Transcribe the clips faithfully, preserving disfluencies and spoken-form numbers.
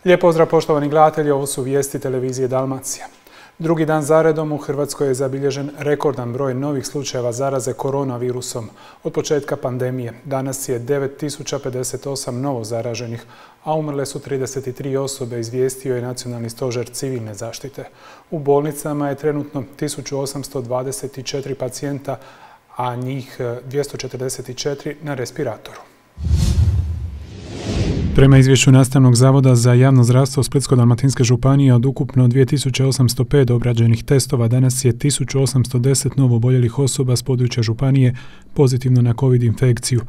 Lijep pozdrav poštovani gledatelji, ovo su vijesti televizije Dalmacija. Drugi dan zaredom u Hrvatskoj je zabilježen rekordan broj novih slučajeva zaraze koronavirusom od početka pandemije. Danas je devet tisuća pedeset osam novo zaraženih, a umrle su trideset tri osobe, izvijestio je Nacionalni stožer civilne zaštite. U bolnicama je trenutno tisuću osamsto dvadeset četiri pacijenta, a njih dvjesto četrdeset četiri na respiratoru. Prema izvješću Nastavnog zavoda za javno zdravstvo Splitsko-dalmatinske županije, od ukupno dvije tisuće osamsto pet obrađenih testova danas je tisuću osamsto deset novo oboljelih osoba s područja županije pozitivno na COVID infekciju.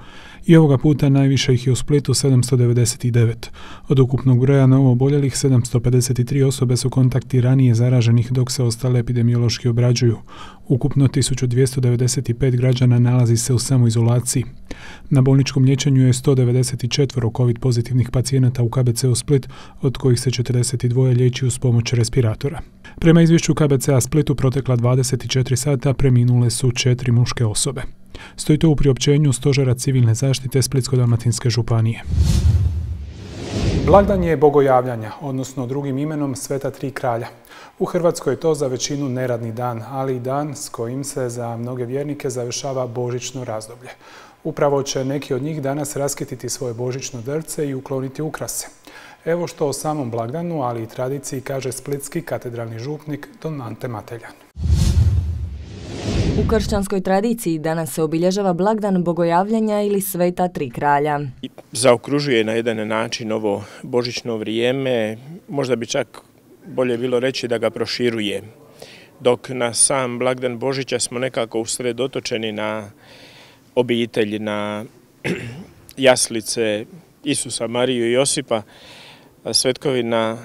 I ovoga puta najviše ih je u Splitu sedamsto devedeset devet. Od ukupnog broja novo oboljelih sedamsto pedeset tri osobe su kontakti ranije zaraženih, dok se ostale epidemiološki obrađuju. Ukupno tisuću dvjesto devedeset pet građana nalazi se u samoizolaciji. Na bolničkom liječenju je sto devedeset četiri COVID pozitivnih pacijenata u K B C-u Split, od kojih se četrdeset dva liječi uz pomoć respiratora. Prema izvješću K B C-a Splitu protekla dvadeset četiri sata preminule su četiri muške osobe. Stoji to u priopćenju Stožera civilne zaštite Splitsko-dalmatinske županije. Blagdan je bogojavljanja, odnosno drugim imenom Sveta tri kralja. U Hrvatskoj je to za većinu neradni dan, ali i dan s kojim se za mnoge vjernike završava božićno razdoblje. Upravo će neki od njih danas raskititi svoje božićno drvce i ukloniti ukrase. Evo što o samom blagdanu, ali i tradiciji kaže splitski katedralni župnik don Ante Mateljan. U kršćanskoj tradiciji danas se obilježava blagdan bogojavljanja ili Sveta tri kralja. Zaokružuje na jedan način ovo božićno vrijeme, možda bi čak bolje bilo reći da ga proširuje. Dok na sam blagdan Božića smo nekako usredotočeni na obitelj, na jaslice Isusa, Mariju i Josipa, svetkovina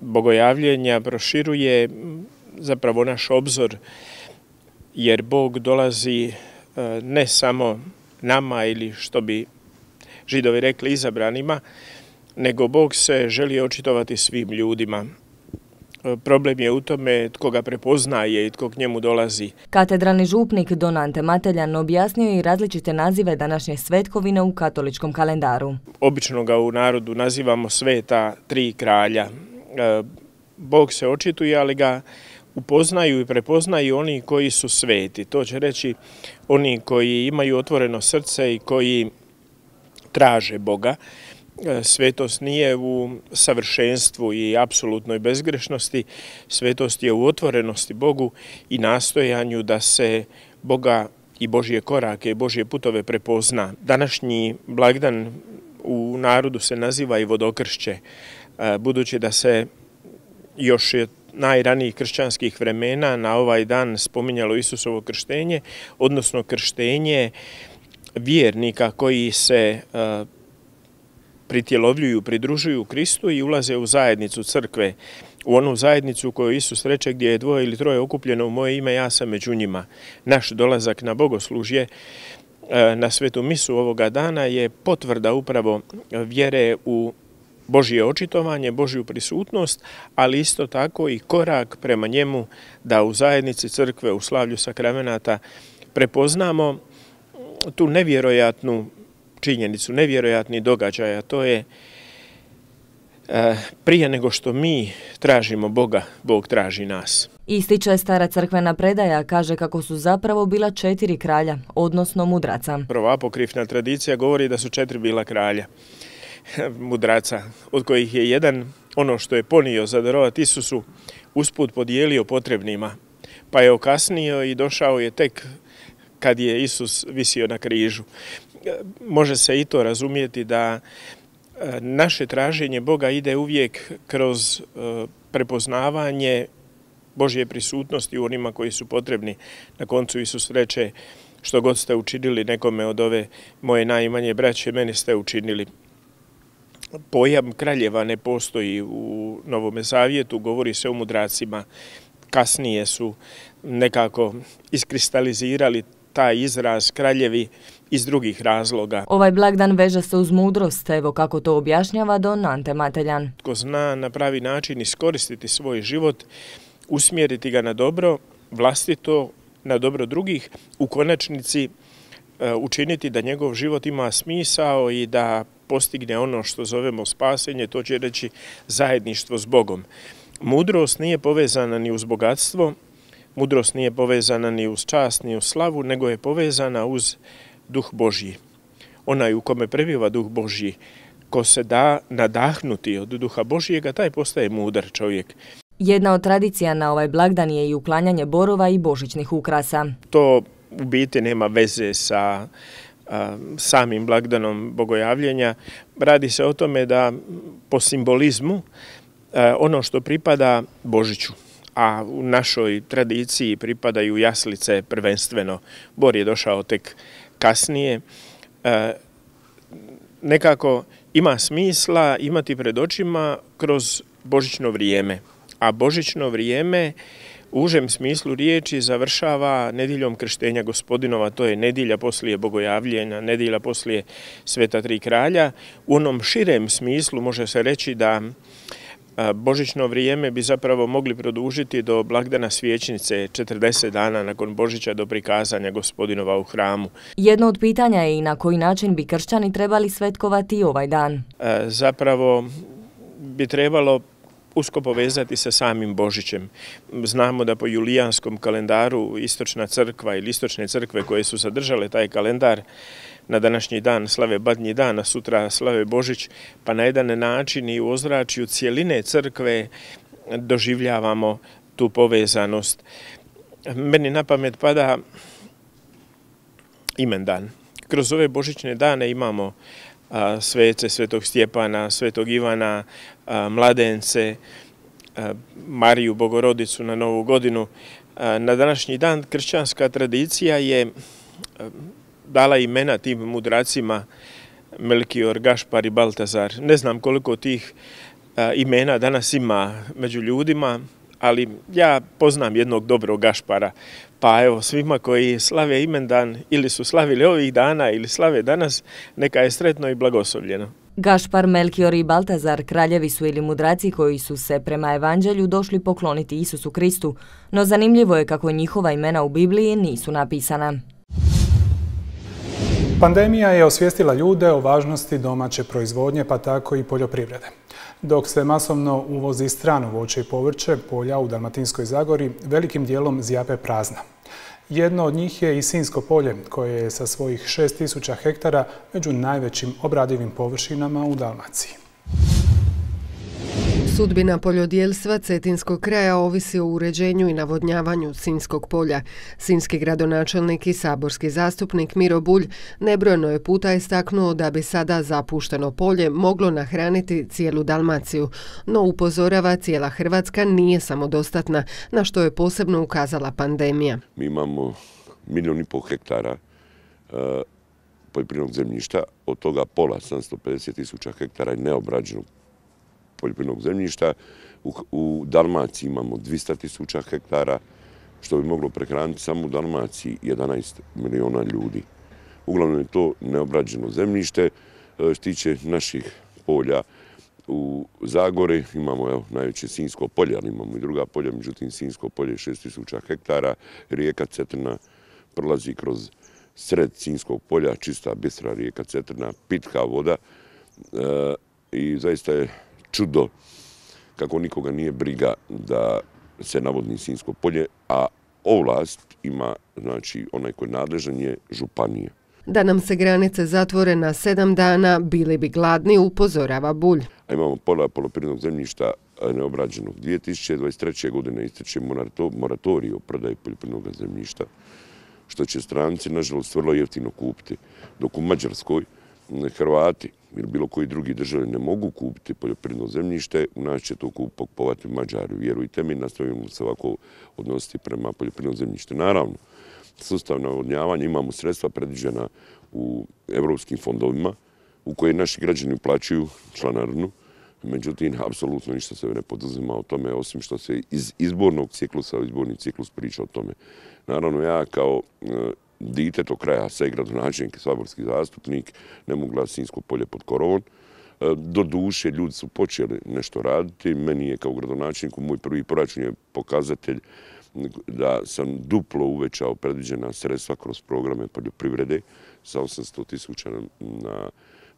bogojavljenja proširuje zapravo naš obzor, jer Bog dolazi ne samo nama ili, što bi Židovi rekli, izabranima, nego Bog se želi očitovati svim ljudima. Problem je u tome tko ga prepoznaje i tko k njemu dolazi. Katedralni župnik don Ante Mateljan objasnio je i različite nazive današnje svetkovine u katoličkom kalendaru. Obično ga u narodu nazivamo Sveta tri kralja. Bog se očituje, ali ga upoznaju i prepoznaju oni koji su sveti. To će reći oni koji imaju otvoreno srce i koji traže Boga. Svetost nije u savršenstvu i apsolutnoj bezgrešnosti, svetost je u otvorenosti Bogu i nastojanju da se Boga i Božje korake i Božje putove prepozna. Današnji blagdan u narodu se naziva i vodokršće, budući da se još je najranijih kršćanskih vremena na ovaj dan spominjalo Isusovo krštenje, odnosno krštenje vjernika koji se pritjelovljuju, pridružuju Kristu i ulaze u zajednicu crkve, u onu zajednicu koju Isus reče gdje je dvoje ili troje okupljeno u moje ime, ja sam među njima. Naš dolazak na bogoslužje, na svetu misu ovoga dana je potvrda upravo vjere u Božje očitovanje, Božju prisutnost, ali isto tako i korak prema njemu da u zajednici crkve, u slavlju sakramenata prepoznamo tu nevjerojatnu činjenicu, nevjerojatni događaj, a to je prije nego što mi tražimo Boga, Bog traži nas. Ističe stara crkvena predaja, kaže kako su zapravo bila četiri kralja, odnosno mudraca. Prvo apokrifna tradicija govori da su četiri bila kralja mudraca, od kojih je jedan ono što je ponio za darovati Isusu usput podijelio potrebnima, pa je okasnio i došao je tek kad je Isus visio na križu. Može se i to razumjeti da naše traženje Boga ide uvijek kroz prepoznavanje Božje prisutnosti u onima koji su potrebni. Na koncu Isus reče, što god ste učinili nekome od ove moje najmanje braće, meni ste učinili. Pojam kraljeva ne postoji u Novome Zavjetu, govori se o mudracima. Kasnije su nekako iskristalizirali taj izraz kraljevi iz drugih razloga. Ovaj blagdan veže se uz mudrost, evo kako to objašnjava don Ante Mateljan. Tko zna na pravi način iskoristiti svoj život, usmjeriti ga na dobro, vlastito, na dobro drugih, u konačnici učiniti da njegov život ima smisao i da postigne ono što zovemo spasenje, to će reći zajedništvo s Bogom. Mudrost nije povezana ni uz bogatstvo, mudrost nije povezana ni uz čast, ni uz slavu, nego je povezana uz duh Božji. Onaj u kome prebiva duh Božji, ko se da nadahnuti od duha Božjega, taj postaje mudar čovjek. Jedna od tradicija na ovaj blagdan je i uklanjanje borova i božićnih ukrasa. To u biti nema veze sa a, samim blagdanom bogojavljenja. Radi se o tome da po simbolizmu a, ono što pripada Božiću, a u našoj tradiciji pripadaju jaslice prvenstveno. Bor je došao tek kasnije. A, nekako ima smisla imati pred očima kroz božićno vrijeme. A božićno vrijeme u užem smislu riječi završava nedjeljom krštenja Gospodinova, to je nedjelja poslije bogojavljenja, nedjelja poslije Sveta tri kralja. U onom širem smislu može se reći da božićno vrijeme bi zapravo mogli produžiti do blagdana svječnice, četrdeset dana nakon Božića do prikazanja Gospodinova u hramu. Jedno od pitanja je i na koji način bi kršćani trebali svetkovati ovaj dan. Zapravo bi trebalo usko povezati sa samim Božićem. Znamo da po julijanskom kalendaru istočna crkva ili istočne crkve koje su zadržale taj kalendar na današnji dan slave Badnji dan, a sutra slave Božić, pa na jedan način i u ozračju cijeline crkve doživljavamo tu povezanost. Meni na pamet pada imendan. Kroz ove božićne dane imamo a, svece Svetog Stjepana, Svetog Ivana, a, mladence, a, Mariju Bogorodicu na Novu godinu. A, na današnji dan kršćanska tradicija je a, dala imena tim mudracima Melkior, Gašpar i Baltazar. Ne znam koliko tih a, imena danas ima među ljudima, ali ja poznam jednog dobrog Gašpara. Pa evo, svima koji slave imendan ili su slavili ovih dana ili slave danas, neka je sretno i blagoslovljeno. Gašpar, Melkior i Baltazar kraljevi su ili mudraci koji su se prema evanđelju došli pokloniti Isusu Kristu, no zanimljivo je kako njihova imena u Bibliji nisu napisana. Pandemija je osvijestila ljude o važnosti domaće proizvodnje, pa tako i poljoprivrede. Dok se masovno uvozi strano voće i povrće, polja u Dalmatinskoj Zagori velikim dijelom zjape prazna. Jedno od njih je i Sinjsko polje, koje je sa svojih šest tisuća hektara među najvećim obradivim površinama u Dalmaciji. Sudbina poljodjelstva cetinskog kraja ovisi o uređenju i navodnjavanju Sinjskog polja. Sinjski gradonačelnik i saborski zastupnik Miro Bulj nebrojeno je puta istaknuo da bi sada zapušteno polje moglo nahraniti cijelu Dalmaciju, no upozorava cijela Hrvatska nije samodostatna, na što je posebno ukazala pandemija. Mi imamo milijun i pol hektara uh, poljoprivrednog zemljišta, od toga pola, sedamsto pedeset tisuća hektara je neobrađenog poljoprivrednog zemljišta. U, u Dalmaciji imamo dvjesto tisuća hektara, što bi moglo prehraniti samo u Dalmaciji jedanaest miliona ljudi. Uglavnom je to neobrađeno zemljište. Što tiče naših polja u Zagori, imamo evo, najveće Sinjsko polje, ali imamo i druga polja, međutim Sinjsko polje je šest tisuća hektara, rijeka Cetina prolazi kroz sred Sinjskog polja, čista bistra rijeka Cetina, pitka voda e, i zaista je čudo kako nikoga nije briga da se navodni Sinjsko polje, a ovlast ima, znači onaj koji je nadležan je županija. Da nam se granice zatvore na sedam dana, bili bi gladni, upozorava Bulj. A imamo pola poljoprivrednog zemljišta neobrađenog. dvije tisuće dvadeset treće. godine ističe moratorij o prodaji poljoprivrednog zemljišta, što će stranci, nažalost, vrlo jeftino kupiti. Dok u Mađarskoj Hrvati ili bilo koji drugi države ne mogu kupiti poljoprivredno zemljište, u nas će to kupovati Mađari. Vjerujte mi, nastavimo se ovako odnositi prema poljoprivrednom zemljištu. Naravno, sustav navodnjavanja imamo sredstva predviđena u evropskim fondovima u koje naši građani uplaćuju članarinu. Međutim, apsolutno ništa se ne poduzima o tome, osim što se iz izbornog ciklusa, izborni ciklus priča o tome. Naravno, ja kao dite tog kraja, sve gradonačelnik i saborski zastupnik, ne mogu gledati Sinjsko polje pod korovom. Do duše, ljudi su počeli nešto raditi. Meni je kao gradonačelniku moj prvi proračun je pokazatelj da sam duplo uvećao predviđena sredstva kroz programe poljoprivrede sa osamsto tisuća na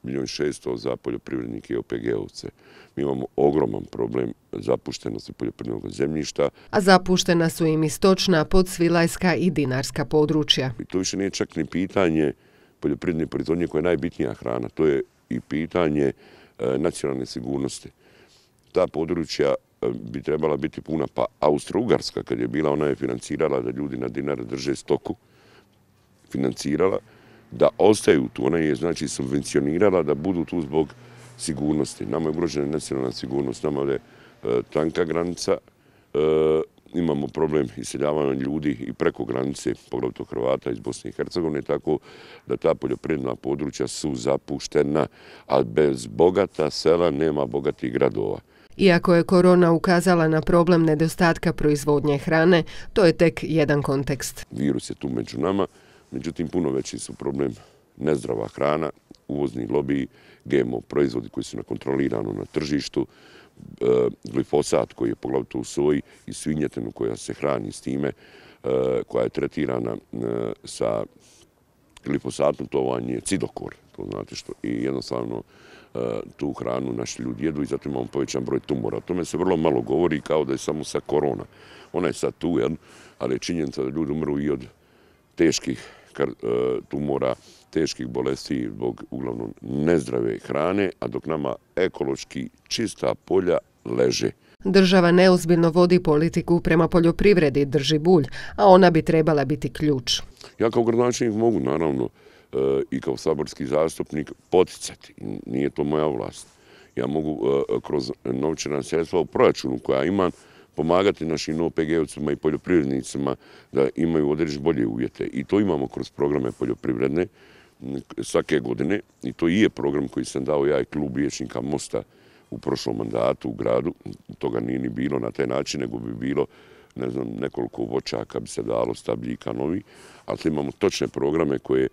milijun i šesto za poljoprivrednike i O P G ovce. Mi imamo ogroman problem zapuštenosti poljoprivrednog zemljišta. A zapuštena su im i stočna, podsvilajska i dinarska područja. I to više nije čak ni pitanje poljoprivredne proizvodnje koja je najbitnija hrana. To je i pitanje e, nacionalne sigurnosti. Ta područja e, bi trebala biti puna, pa Austro-Ugarska kad je bila, ona je financirala da ljudi na dinar drže stoku, financirala da ostaju tu, ona je znači subvencionirala da budu tu zbog sigurnosti. Nama je ugrožena nacionalna sigurnost, nama je e, tanka granica, e, imamo problem iseljavanja ljudi i preko granice, poglavito Hrvata iz Bosne i Hercegovine, tako da ta poljoprivredna područja su zapuštena, a bez bogata sela nema bogatih gradova. Iako je korona ukazala na problem nedostatka proizvodnje hrane, to je tek jedan kontekst. Virus je tu među nama, međutim puno veći su problem nezdrava hrana, uvozni lobiji, G M O proizvodi koji su nekontrolirano na tržištu, glifosat koji je poglavito u soji i svinjetinu koja se hrani s time, koja je tretirana sa glifosatom, to vam je cidokor, to znate što, i jednostavno tu hranu naši ljudi jedu i zato imamo povećan broj tumora. O tome se vrlo malo govori kao da je samo sa korona. Ona je sad tu, ali je činjenica da ljudi umru i od teških tumora, teških bolesti zbog uglavnom nezdrave hrane, a dok nama ekološki čista polja leže. Država neozbiljno vodi politiku prema poljoprivredi, drži Bulj, a ona bi trebala biti ključ. Ja kao gradonačelnik mogu, naravno, i kao saborski zastupnik poticati. Nije to moja vlast. Ja mogu kroz novčana sredstva u proračunu koja imam pomagati našim O P G ovcima i poljoprivrednicima da imaju određene bolje uvjete. I to imamo kroz programe poljoprivredne svake godine. I to i je program koji sam dao ja i klub vijećnika Mosta u prošlom mandatu u gradu. Toga nije ni bilo na taj način, nego bi bilo ne znam, nekoliko voćaka bi se dalo, stabljika novi, ali imamo točne programe koje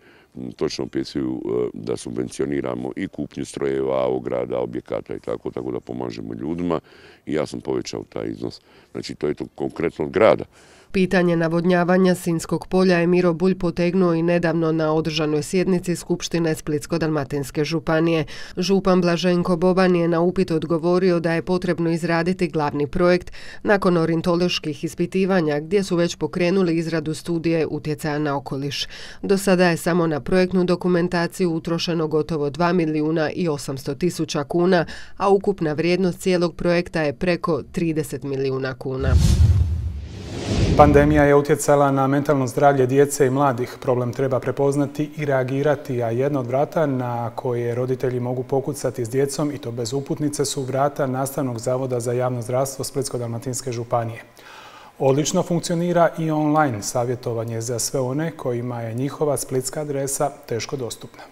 točno opisuju da subvencioniramo i kupnju strojeva, ograda, objekata i tako, tako da pomažemo ljudima i ja sam povećao taj iznos. Znači, to je to konkretno od grada. Pitanje navodnjavanja Sinjskog polja je Miro Bulj potegnuo i nedavno na održanoj sjednici Skupštine Splitsko-dalmatinske županije. Župan Blaženko Boban je na upit odgovorio da je potrebno izraditi glavni projekt nakon ornitoloških ispitivanja gdje su već pokrenuli izradu studije utjecaja na okoliš. Do sada je samo na projektnu dokumentaciju utrošeno gotovo dva milijuna i osamsto tisuća kuna, a ukupna vrijednost cijelog projekta je preko trideset milijuna kuna. Pandemija je utjecala na mentalno zdravlje djece i mladih. Problem treba prepoznati i reagirati, a jedno od vrata na koje roditelji mogu pokucati s djecom, i to bez uputnice, su vrata Nastavnog zavoda za javno zdravstvo Splitsko-dalmatinske županije. Odlično funkcionira i online savjetovanje za sve one kojima je njihova splitska adresa teško dostupna.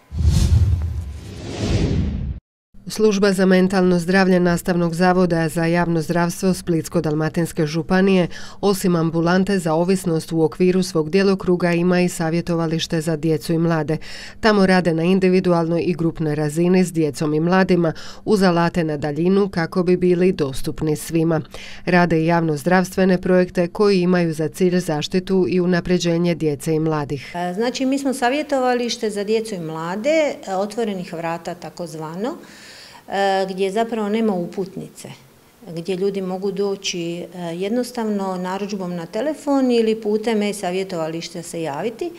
Služba za mentalno zdravlje Nastavnog zavoda za javno zdravstvo Splitsko-dalmatinske županije osim ambulante za ovisnost u okviru svog djelokruga ima i savjetovalište za djecu i mlade. Tamo rade na individualnoj i grupnoj razini s djecom i mladima uz alate na daljinu kako bi bili dostupni svima. Rade i javno zdravstvene projekte koji imaju za cilj zaštitu i unapređenje djece i mladih. Znači, mi smo savjetovalište za djecu i mlade, otvorenih vrata takozvano, gdje zapravo nema uputnice, gdje ljudi mogu doći jednostavno narudžbom na telefon ili putem e-savjetovališta se javiti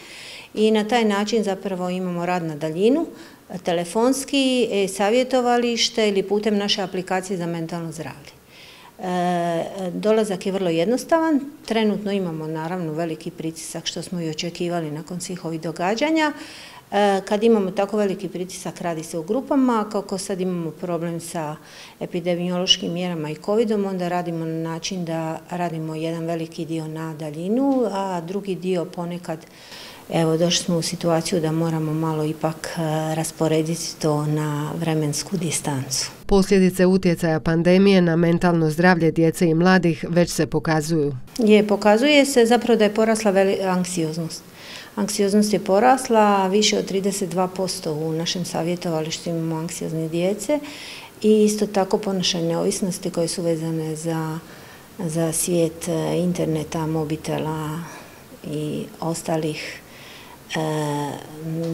i na taj način zapravo imamo rad na daljinu, telefonski, e-savjetovalište ili putem naše aplikacije za mentalno zdravlje. Dolazak je vrlo jednostavan, trenutno imamo naravno veliki pritisak što smo i očekivali nakon svih ovih događanja. Kad imamo tako veliki pritisak, radi se u grupama, kako sad imamo problem sa epidemiološkim mjerama i covidom, onda radimo na način da radimo jedan veliki dio na daljinu, a drugi dio ponekad, evo, došli smo u situaciju da moramo malo ipak rasporediti to na vremensku distancu. Posljedice utjecaja pandemije na mentalno zdravlje djece i mladih već se pokazuju. Je, pokazuje se zapravo da je porasla anksioznost. Anksioznost je porasla, više od trideset dva posto u našem savjetovalištu imamo anksiozne djece i isto tako ponašanje neovisnosti koje su vezane za, za svijet interneta, mobitela i ostalih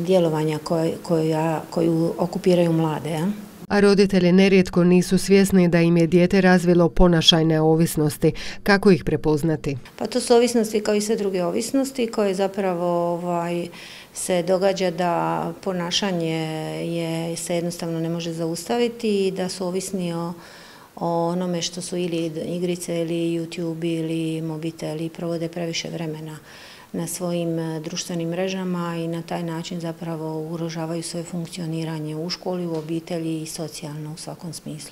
djelovanja koju okupiraju mlade. A roditelji nerijetko nisu svjesni da im je dijete razvilo ponašajne ovisnosti. Kako ih prepoznati? Pa to su ovisnosti kao i sve druge ovisnosti koje zapravo ovaj, se događa da ponašanje je, se jednostavno ne može zaustaviti i da su ovisni o, o onome što su ili igrice ili YouTube ili mobitel i provode previše vremena na svojim društvenim mrežama i na taj način zapravo ugrožavaju svoje funkcioniranje u školi, u obitelji i socijalno u svakom smislu.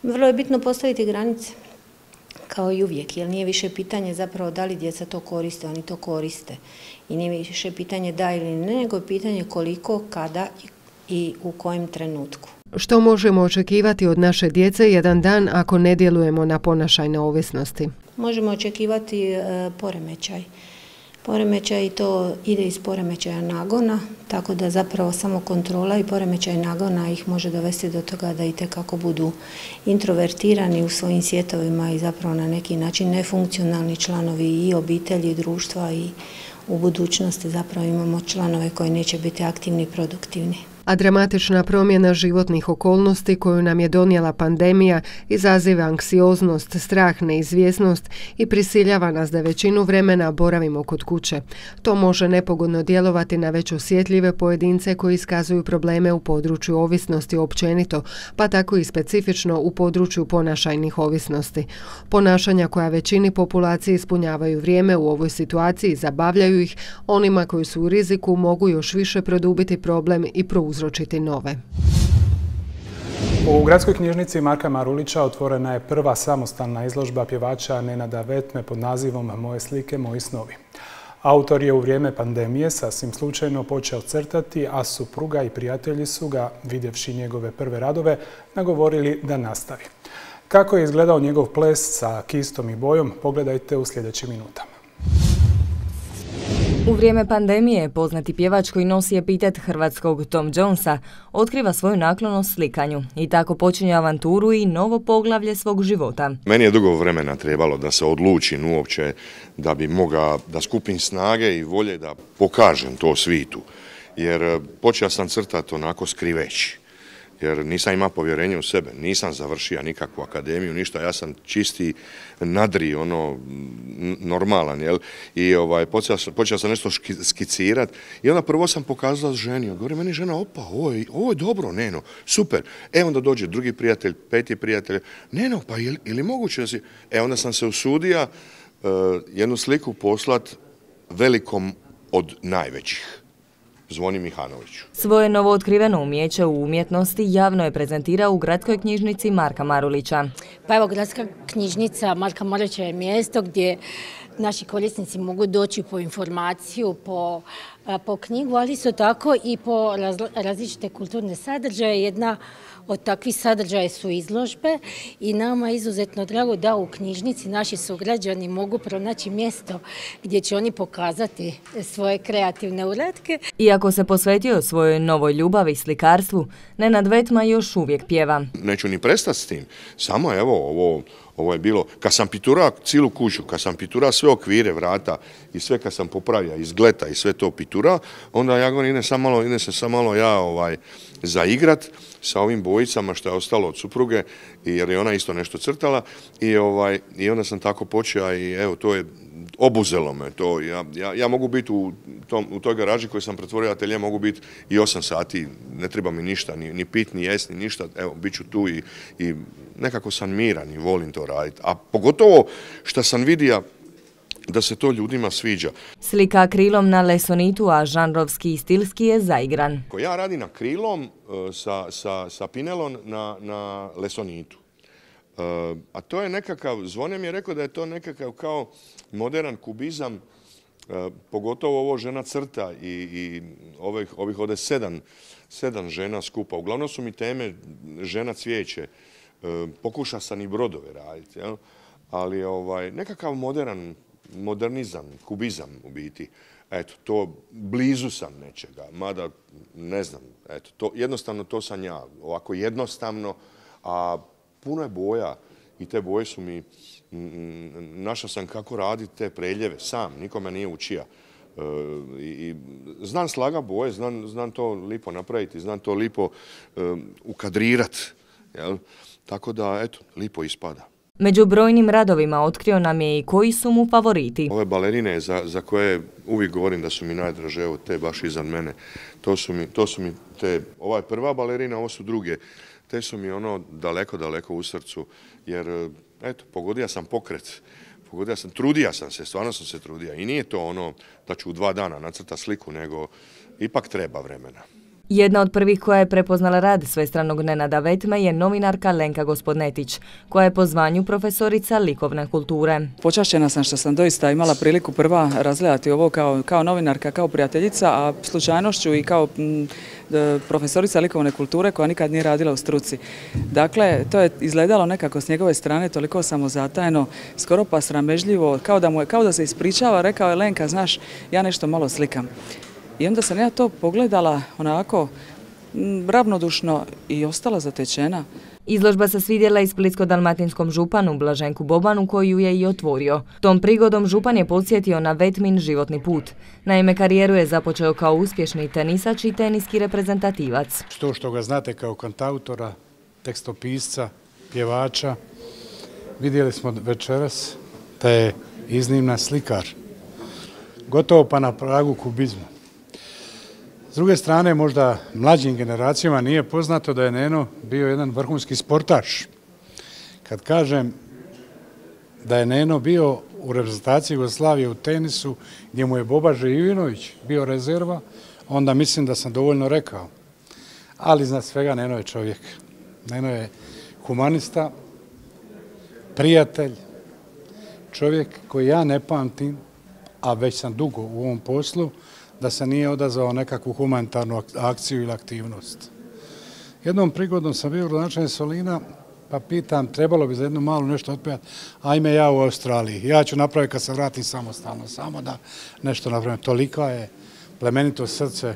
Vrlo je bitno postaviti granice, kao i uvijek, jer nije više pitanje zapravo da li djeca to koriste, oni to koriste. I nije više pitanje da ili ne, nego je pitanje koliko, kada i u kojem trenutku. Što možemo očekivati od naše djece jedan dan ako ne djelujemo na ponašajne ovisnosti? Možemo očekivati e, poremećaj. Poremećaj i to ide iz poremećaja nagona, tako da zapravo samo kontrola i poremećaj nagona ih može dovesti do toga da itekako budu introvertirani u svojim svjetovima i zapravo na neki način nefunkcionalni članovi i obitelji i društva i u budućnosti zapravo imamo članove koji neće biti aktivni i produktivni. A dramatična promjena životnih okolnosti koju nam je donijela pandemija izaziva anksioznost, strah, neizvjesnost i prisiljava nas da većinu vremena boravimo kod kuće. To može nepogodno djelovati na već osjetljive pojedince koji iskazuju probleme u području ovisnosti općenito, pa tako i specifično u području ponašajnih ovisnosti. Ponašanja koja većini populacije ispunjavaju vrijeme u ovoj situaciji zabavljaju ih, onima koji su u riziku mogu još više produbiti problem i prouzročiti nove. U Gradskoj knjižnici Marka Marulića otvorena je prva samostalna izložba pjevača Nenada Vetme pod nazivom Moje slike, moji snovi. Autor je u vrijeme pandemije sasvim slučajno počeo crtati, a supruga i prijatelji su ga, vidjevši njegove prve radove, nagovorili da nastavi. Kako je izgledao njegov ples sa kistom i bojom, pogledajte u sljedećim minutama. U vrijeme pandemije poznati pjevač koji nosi epitet hrvatskog Tom Jonesa otkriva svoju naklonost slikanju i tako počinje avanturu i novo poglavlje svog života. Meni je dugo vremena trebalo da se odlučim uopće da bi mogao da skupim snage i volje da pokažem to svitu. Jer počeo sam crtati onako skriveći. Jer nisam imao povjerenje u sebe, nisam završio nikakvu akademiju, ništa, ja sam čisti nadri, ono, normalan, jel? I ovaj, počeo, počeo sam nešto skicirati i onda prvo sam pokazala ženi, govori meni žena, opa, ovo je, ovo je dobro, Neno, super. E onda dođe drugi prijatelj, peti prijatelj, Neno, pa je, je li moguće da si... E onda sam se usudio uh, jednu sliku poslat velikom od najvećih. Zvoni Mihanoviću. Svoje novootkriveno umijeće u umjetnosti javno je prezentirao u Gradskoj knjižnici Marka Marulića. Pa evo, Gradska knjižnica Marka Marulića je mjesto gdje naši korisnici mogu doći po informaciju, po, po knjigu, ali isto tako i po različite kulturne sadržaje. Jedna od takvih sadržaja su izložbe i nama je izuzetno drago da u knjižnici naši sugrađani mogu pronaći mjesto gdje će oni pokazati svoje kreativne uratke. Iako se posvetio svojoj novoj ljubavi slikarstvu, Nenad Vetma još uvijek pjeva. Neću ni prestati s tim, samo evo ovo... Ovo je bilo, kad sam piturao cijelu kuću, kad sam piturao sve okvire, vrata i sve kad sam popravio iz gleta i sve to piturao, onda ja govorim, ide, sam malo, ide se samo malo ja ovaj, zaigrat sa ovim bojicama što je ostalo od supruge, jer je ona isto nešto crtala i, ovaj, i onda sam tako počeo i evo, to je obuzelo me to. Ja, ja, ja mogu biti u, tom, u toj garaži koju sam pretvorio atelje, mogu biti i osam sati, ne treba mi ništa, ni, ni pit, ni jest, ni ništa, evo, bit ću tu i, i nekako sam miran i volim to raditi. A pogotovo što sam vidio da se to ljudima sviđa. Slika akrilom na lesonitu, a žanrovski i stilski je zaigran. Ja radim akrilom sa, sa, sa pinelom na, na lesonitu. Uh, a to je nekakav, Zvone mi je rekao da je to nekakav kao modern kubizam, uh, pogotovo ovo žena crta i, i ovih, ovih ovdje sedam, sedam žena skupa. Uglavnom su mi teme žena cvijeće. Uh, pokuša sam i brodove raditi, jel? Ali ovaj, nekakav modern, modernizam, kubizam u biti. Eto, to blizu sam nečega, mada ne znam, eto, to, jednostavno to sam ja, ovako jednostavno, a puno je boja i te boje su mi, našao sam kako raditi te preljeve sam, nikome nije učio. I znam slaga boje, znam to lipo napraviti, znam to lipo ukadrirat. Tako da, eto, lipo ispada. Među brojnim radovima otkrio nam je i koji su mu favoriti. Ove balerine za koje uvijek govorim da su mi najdraže, evo te baš iznad mene, to su mi te, ova je prva balerina, ovo su druge. Te su mi ono daleko, daleko u srcu, jer, eto, pogodio sam pokret. Pogodio sam, trudija sam se, stvarno sam se trudija. I nije to ono da ću u dva dana nacrta sliku, nego ipak treba vremena. Jedna od prvih koja je prepoznala rad svestranog Nenada Vetme je novinarka Lenka Gospodnetić, koja je po zvanju profesorica likovne kulture. Počašćena sam što sam doista imala priliku prva razgledati ovo kao, kao novinarka, kao prijateljica, a slučajnošću i kao m, profesorica likovne kulture koja nikad nije radila u struci. Dakle, to je izgledalo nekako s njegove strane toliko samozatajno, skoro pa sramežljivo, kao da, mu je, kao da se ispričava, rekao je Lenka, znaš, ja nešto malo slikam. I onda sam ja to pogledala onako ravnodušno i ostala zatečena. Izložba se svidjela i splitsko-dalmatinskom županu Blaženku Bobanu koju je i otvorio. Tom prigodom župan je podsjetio na Vetmin životni put. Naime, karijeru je započeo kao uspješni tenisač i teniski reprezentativac. To što ga znate kao kantautora, tekstopisca, pjevača, vidjeli smo večeras da je iznimna slikar. Gotovo pa na pragu kubizma. S druge strane, možda mlađim generacijama nije poznato da je Neno bio jedan vrhunski sportaš. Kad kažem da je Neno bio u reprezentaciji Jugoslavije u tenisu, gdje mu je Boba Živinović bio rezerva, onda mislim da sam dovoljno rekao. Ali iznad svega Neno je čovjek. Neno je humanista, prijatelj, čovjek koji ja ne pamtim, a već sam dugo u ovom poslu, da se nije odazvao nekakvu humanitarnu akciju ili aktivnost. Jednom prigodom sam bio gradonačelnik Solina, pa pitam, trebalo bi za jednu malu nešto otpijati, ajme ja u Australiji. Ja ću napraviti kad se vratim samostalno, samo da nešto napravim. Tolika je plemenito srce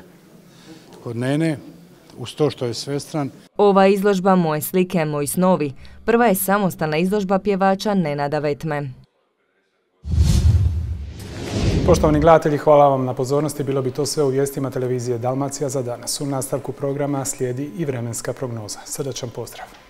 kod Nene, uz to što je svestran. Ova izložba Moje slike, moji snovi, prva je samostalna izložba pjevača Nenada Vetme. Poštovani gledatelji, hvala vam na pozornosti. Bilo bi to sve u vijestima televizije Dalmacija za danas. U nastavku programa slijedi i vremenska prognoza. Srdačan pozdrav!